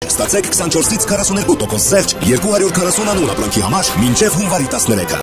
Ստացեք 24-ից 42% զեղչ 249 ապրանքի համար մինչև հունվարի 13-ը։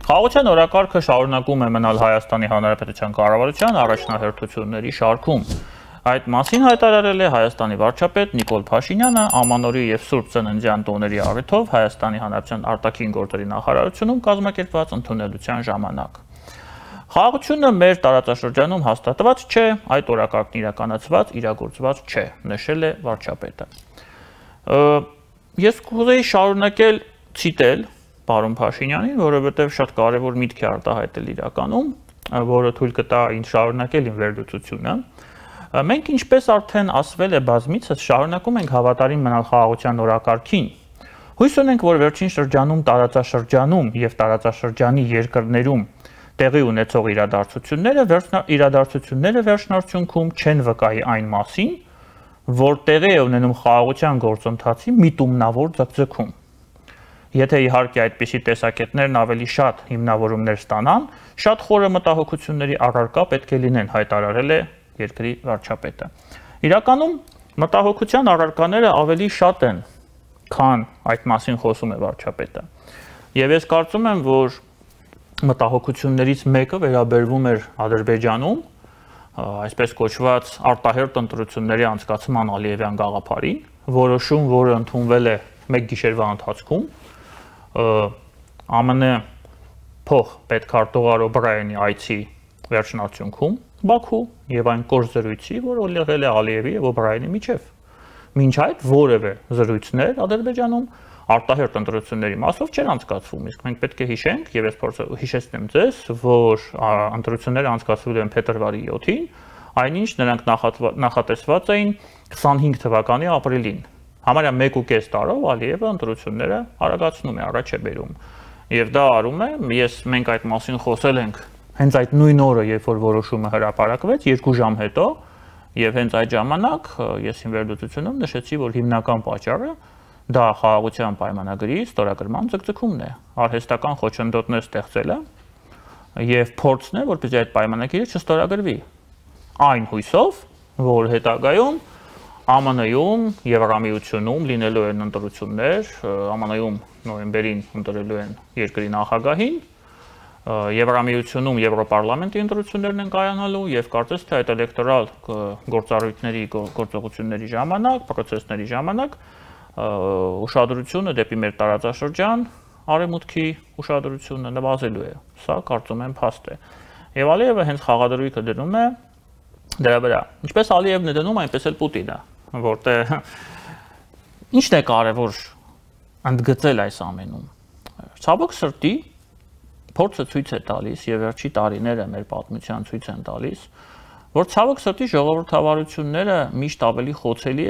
Խաղաղության օրակարգը շարունակում է մնալ Հայաստանի Հանրապետության կառավարության առաջնահերթությունների շարքում։ Այդ մասին հայտարարել է Հայաստանի վարչապետ Նիկոլ Փաշինյանը Ամանորի եւ Սուրբ Ծննդյան տոների առիթով Հայաստանի Հանրապետության արտաքին գործերի նախարարությունում կազմակերպված ընդունելության ժամանակ։ Խաղաղությունը մեր տարածաշրջանում հաստատված չէ, այդ օրակարգն իրականացված, իրագործված չէ, նշել է վարչապետը։ Ես կուզեի շարունակել ցիտել պարոն Փաշինյանին, որովհետև շատ կարևոր միտք է արտահայտել իրականում, որը թույլ կտա ինձ շարունակել իմ վերլուծությունը։ Մենք ինչպես արդեն ասվել է բազմիցս, շարունակում ենք հավատարիմ մնալ խաղաղության օրակարգին։ Հույս ունենք, որ վերջին շրջանում տարածաշրջանում եւ տարածաշրջանի երկրներում տեղի ունեցող իրադարձությունները վերջնարդյունքում չեն վկայի այն մասին, որ տեղի է ունենում խաղաղության գործընթացի միտումնավոր ձգձգում։ Եթե իհարկե այդպիսի տեսակետներն ավելի շատ հիմնավորումներ ստանան, շատ խորը մտահոգությունների առարկա պետք է լինեն, հայտարարել է երկրի վարչապետը։ Իրականում մտահոգության առարկաները ավելի շատ են, քան այդ մասին խոսում է վարչապետը։ Եվ ես կարծում եմ, որ մտահոգություններից մեկը վերաբերվում էր Ադրբեջանում, այսպես կոչված արտահերթ ընտրությունների անցկացման Ալիևյան գաղափարին, որոշում, որը ընդունվել է մեկ գիշերվա ընթացքում, ԱՄՆ փոխ պետքարտուղար Օբրայենի այցի վերջնարդյունքում Բաքու եւ այն կորս զրույցի, որ եղել է Ալիևի եւ Օբրայենի միջև։ Մինչ այդ որևէ զրույցներ Ադրբեջանում արտահերթ ընտրությունների մասով չեն անցկացվում, իսկ մենք պետք է հիշենք, եւ ես հիշեցնեմ ձեզ, որ ընտրությունները անցկացվել են փետրվարի 7-ին, այնինչ նրանք նախատեսված էին 25 թվականի ապրիլին։ Համարյա 1.5 տարով Ալիևը ընտրությունները արագացնում է, առաջ է բերում։ Եվ դա արում է, մենք այդ մասին խոսել ենք հենց այդ նույն օրը, երբ որ որոշումը հրապարակվեց, 2 ժամ հետո, եւ հենց այդ ժամանակ ես իմ վերլուծությունում նշեցի, որ հիմնական պատճառը դա խաղաղության պայմանագրի ստորագրման ձգձգումն է, արհեստական խոչընդոտներ ստեղծելը եւ փորձն է, որպեսզի այդ պայմանագիրը չստորագրվի։ Այն հույսով, որ հետագայում ԱՄՆ-ում, Եվրամիությունում լինելու են ընտրություններ, ԱՄՆ-ում նոյեմբերին ընտրելու են երկրի նախագահին, Եվրամիությունում Եվրոպարլամենտի ընտրություններն են կայանալու եւ կարծես թե այդ էլեկտորալ գործառույթների գործողությունների ժամանակ, պրոցեսների ժամանակ ուշադրությունը դեպի մեր տարածաշրջան, արևմուտքի ուշադրությունը նվազելու է։ Սա կարծում եմ փաստ է։ Եվ Ալիևը հենց խաղադրույքը դնում է դրա վրա։ Ինչպես Ալիևն է դնում, այնպես էլ Պուտինը, որտեղ ինչն է կարևոր ընդգծել այս ամենում։ Ցավոք սրտի փորձը ցույց է տալիս եւ վերջի տարիները մեր պատմության ցույց են տալիս, որ ցավոք սրտի ժողովրդավարությունները միշտ ավելի խոցելի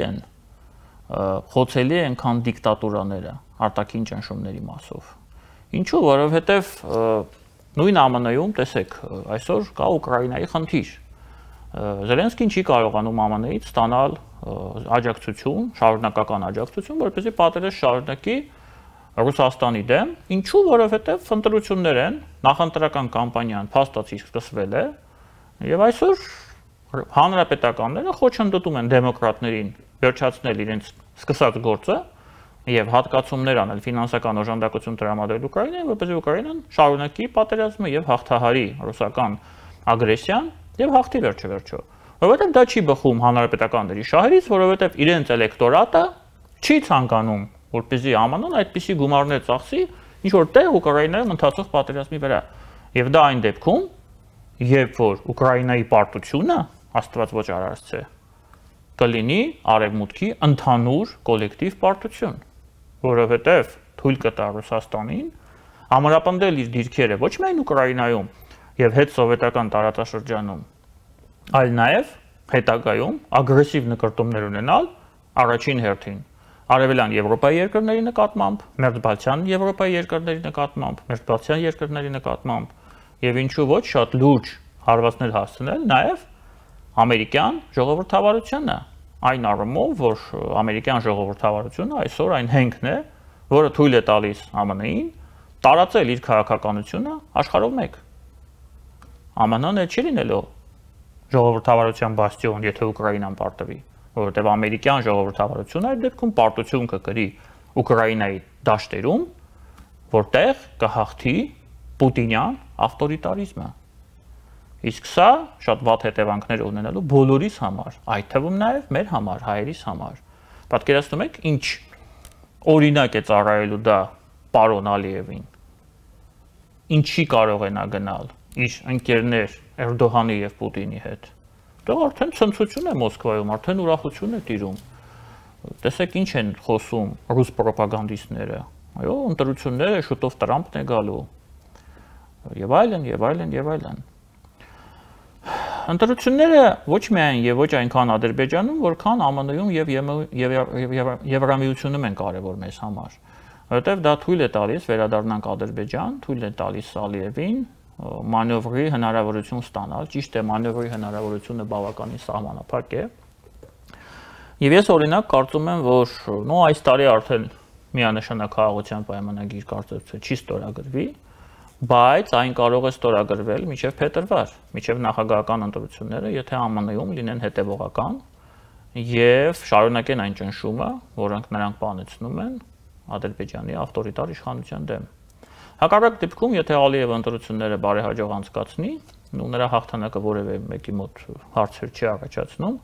են, քան դիկտատուրաները արտաքին ճնշումների մասով։ Ինչու՞, որովհետեւ նույն ԱՄՆ-ում, տեսեք, այսօր կա Ուկրաինայի խնդիր։ Զելենսկին չի կարողանում ԱՄՆ-ից ստանալ աջակցություն, շարունակական աջակցություն, որպեսզի պատերազմ շարունակի Ռուսաստանի դեմ, ինչու, որովհետև ընտրություններ են, նախընտրական կամպանիան փաստացի սկսվել է, եւ այսօր հանրապետականները խոչընդոտում են դեմոկրատներին վերջացնել իրենց սկսած գործը եւ հատկացումներ անել ֆինանսական օժանդակություն տրամադրել Ուկրաինային, որպեսզի Ուկրաինան շարունակի պատերազմը եւ հաղթահարի ռուսական ագրեսիան եւ հաղթի վերջը։ Որովհետեւ դա չի բխում հանրապետականների շահերից, որովհետեւ իրենց էլեկտորատը չի ցանկանում որպեսզի ԱՄՆ-ն այդպիսի գումարներ ծախսի ինչ որ տեղ Ուկրաինայում ընթացող պատերազմի վրա։ Եվ դա այն դեպքում, երբ որ Ուկրաինայի պարտությունը, Աստված ոչ արարծե, կլինի արևմուտքի ընդհանուր կոլեկտիվ պարտություն, որովհետև թույլ կտա Ռուսաստանին ամրապնդել իր դիրքերը ոչ միայն Ուկրաինայում եւ հետսովետական տարածաշրջանում, այլ նաեւ հետագայում ագրեսիվ նկրտումներ ունենալ առաջին հերթին Արևելյան Եվրոպայի երկրների նկատմամբ, Մերձբալթյան Եվրոպայի երկրների նկատմամբ, Մերձբալթյան երկրների նկատմամբ եւ ինչու ոչ շատ լուրջ հարվածներ հասցնել նաեւ ամերիկյան ժողովրդավարությանը, այն առումով, որ ամերիկյան ժողովրդավարությունը այսօր այն հենքն է, որը թույլ է տալիս ԱՄՆ-ին տարածել իր քաղաքականությունը աշխարհով մեկ։ ԱՄՆ-ն չի լինելու ժողովրդավարության բաստիոն, եթե Ուկրաինան պարտվի, որովհետև ամերիկյան ժողովրդավարությունը այդ դեպքում պարտություն կկրի Ուկրաինայի դաշտերում, որտեղ կհաղթի պուտինյան ավտորիտարիզմը։ Իսկ սա շատ վատ հետևանքներ ունենալու բոլորիս համար, այդ թվում նաև մեր համար, հայերիս համար։ Պատկերացնում եք, ինչ օրինակ է ծառայելու դա պարոն Ալիևին։ Ինչի կարող է նա գնալ իր ընկերներ Էրդողանի եւ Պուտինի հետ։ Դա արդեն ցնցություն է Մոսկվայում, արդեն ուրախություն է տիրում։ Տեսեք ինչ են խոսում ռուս ռոպագանդիստները։ Այո, ընտրությունները շուտով Տրամփն է գալու։ Եվ այլն, եւ այլն, եւ այլն։ Ընտրությունները ոչ միայն եւ ոչ այնքան Ադրբեջանում, որքան ԱՄՆ-ում եւ Եվրամիությունում են կարեւոր մեզ համար, որովհետեւ դա թույլ է տալիս վերադառնանք Ադրբեջան, թույլ է տալիս Ալիևին մանևրի հնարավորություն ստանալ, ճիշտ է մանևրի հնարավորությունը բավականին սահմանափակ է։ Եվ ես օրինակ կարծում եմ, որ այս տարի արդեն միանշանակ խաղաղության պայմանագիր կարծես չի ստորագրվի, բայց այն կարող է ստորագրվել մինչև փետրվար, մինչև նախագահական ընտրությունները, եթե ԱՄՆ-ում լինեն հետևողական եւ շարունակեն այն ճնշումը, որոնք նրանք բանեցնում են Ադրբեջանի ավտորիտար իշխանության դեմ։ Հակառակ դեպքում, եթե Ալիևը ընտրությունները բարեհաջող անցկացնի, ու նրա հաղթանակը որևէ մեկի մոտ հարցեր չի առաջացնում,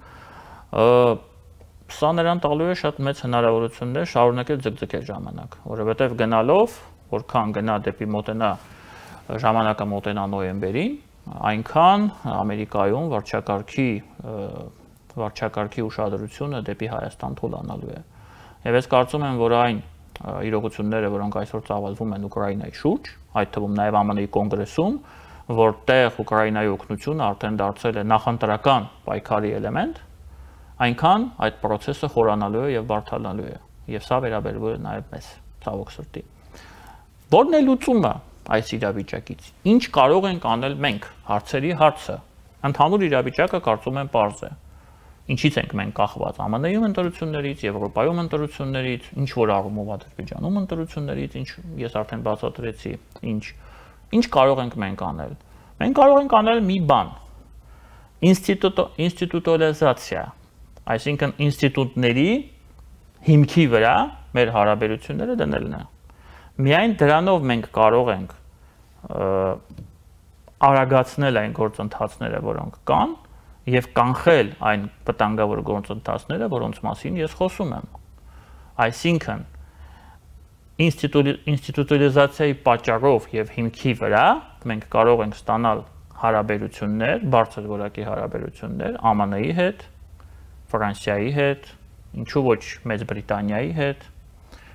սա նրան տալու է շատ մեծ հնարավորություններ շարունակել ձգձգել ժամանակ, որովհետև գնալով, որքան գնա դեպի մոտենա ժամանակը մոտենա նոյեմբերին, այնքան Ամերիկայում վարչակարգի ուշադրությունը դեպի Հայաստան թուլանալու է։ Եվ ես կարծում եմ, որ այն իրողությունները, որոնք այսօր ծավալվում են Ուկրաինայի շուրջ, այդ թվում նաև ԱՄՆ-ի կոնգրեսում, որտեղ Ուկրաինայի օգնությունը արդեն դարձել է նախընտրական պայքարի էլեմենտ, այնքան այդ process-ը խորանալու է եւ բարդանալու է։ Եվ սա վերաբերվում է նաև մեզ, ցավոք սրտի։ Որն է լուծումը այս իրավիճակից։ Ինչ կարող ենք անել մենք, հարցերի հարցը։ Ընդհանուր իրավիճակը կարծում եմ պարզ է։ Ինչից ենք մենք կախված ԱՄՆ-ում ընտրություններից, Եվրոպայում ընտրություններից, ինչ որ առումով Ադրբեջանում ընտրություններից, ինչ ես արդեն բացատրեցի, ինչ կարող ենք մենք անել։ Մենք կարող ենք անել մի բան. ինստիտուտալիզացիա, այսինքն ինստիտուտների հիմքի վրա մեր հարաբերությունները դնելն է։ Միայն դրանով մենք կարող ենք արագացնել այն գործընթացները, որոնք կան, եւ կանխել այն վտանգավոր գործընթացները, որոնց մասին ես խոսում եմ։ Այսինքն ինստիտուտալիզացիայի պատճառով եւ հիմքի վրա մենք կարող ենք ստանալ հարաբերություններ, բարձր որակի հարաբերություններ ԱՄՆ-ի հետ, Ֆրանսիայի հետ, ինչու ոչ Մեծ Բրիտանիայի հետ,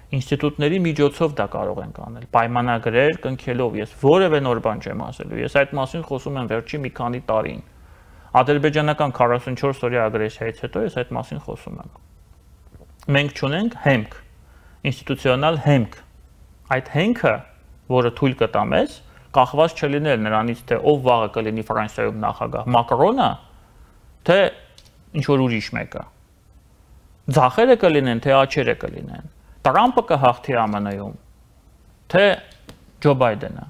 ինստիտուտների միջոցով դա կարող ենք անել, պայմանագրեր կնքելով, ես որևէ նոր բան չեմ ասելու, ես այդ մասին խոսում եմ վերջի մի քանի տարին։ Ադրբեջանական 44 օրյա ագրեսիայից հետո ես այդ մասին խոսում եմ։ Մենք չունենք հեմք, ինստիտուցիոնալ հեմք։ Այդ հենքը, որը թույլ կտա մեզ, կախված չլինել նրանից, թե ով վաղը կլինի Ֆրանսիայում նախագահ, Մակրոնը, թե ինչ-որ ուրիշ մեկը։ Ձախերը կլինեն, թե աջերը կլինեն։ Տրամփը կհաղթի ԱՄՆ-ում, թե Ջո Բայդենը։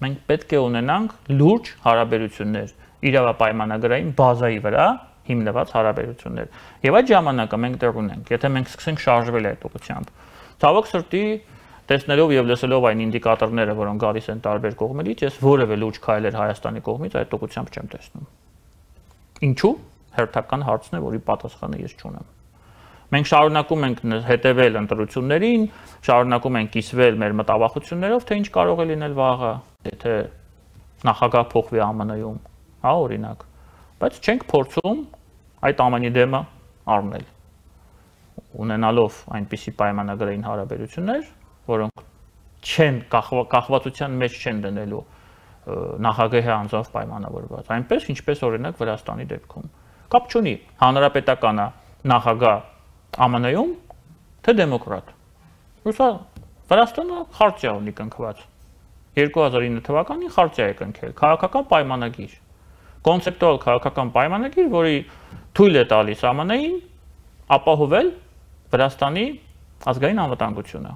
Մենք պետք է ունենանք լուրջ հարաբերություններ, իրավապայմանագրային բազայի վրա հիմնված հարաբերություններ։ Եվ այդ ժամանակը մենք դեռ ունենք, եթե մենք սկսենք շարժվել այդ ուղղությամբ։ Ցավոք սրտի, տեսնելով եւ լսելով այն ինդիկատորները, որոնք գալիս են տարբեր կողմերից, ես որևէ լուրջ քայլեր Հայաստանի կողմից այդ ուղղությամբ չեմ տեսնում։ Ինչու՞։ Հերթական հարցն է, որի պատասխանը ես չունեմ։ Մենք շարունակում ենք հետևել ընտրություններին, շարունակում ենք կիսվել մեր մտավախություններով, թե ինչ կարող է լինել վաղը, եթե նախագահ փոխվի ԱՄՆ-ում, հա, օրինակ, բայց չենք փորձում այդ ամենի դեմը առնել, ունենալով այնպիսի պայմանագրային հարաբերություններ, որոնք չեն կախվածության մեջ չեն դնելու նախագահի անձով պայմանավորված, այնպես ինչպես օրինակ Վրաստանի դեպքում։ Կապ չունի հանրապետականը նախագահ ԱՄՆ-ում, թե դեմոկրատ։ Վրաստանը խարտիա ունի կնքված։ 2009 թվականին խարտիա է կնքել, քաղաքական պայմանագիր, կոնցեպտուալ քաղաքական պայմանագիր, որի թույլ է տալիս ԱՄՆ-ին ապահովել Վրաստանի ազգային անվտանգությունը,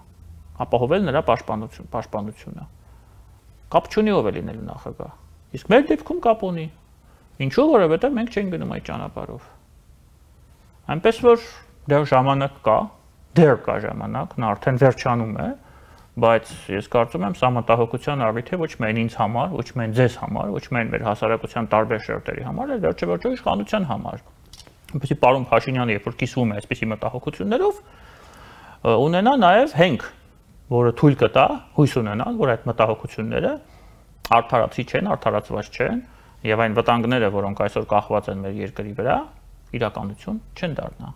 ապահովել նրա պաշտպանությունը։ Կապ չունի ով է լինելու նախագահ։ Իսկ մեր դեպքում կապ ունի։ Ինչու, որովհետև մենք չենք գնում այդ ճանապարհով։ Այնպես որ դեռ ժամանակ կա, դեռ կա ժամանակ, նա արդեն վերջանում է, բայց ես կարծում եմ սա մտահոգության առիթ է ոչ միայն ինձ համար, ոչ միայն ձեզ համար, ոչ միայն մեր հասարակության տարբեր շերտերի համար, այլ վերջեվերջո իշխանության համար։ Որպեսզի պարոն Փաշինյանը երբ որ կիսվում է այսպիսի մտահոգություններով, ունենա նաև հենք, որը թույլ կտա, հույս ունենալ, որ այդ մտահոգությունները արդարացի չեն, արդարացված չեն, եւ այն վտանգները, որոնք այսօր կախված են մեր երկրի վրա, իրականություն չեն դառնա։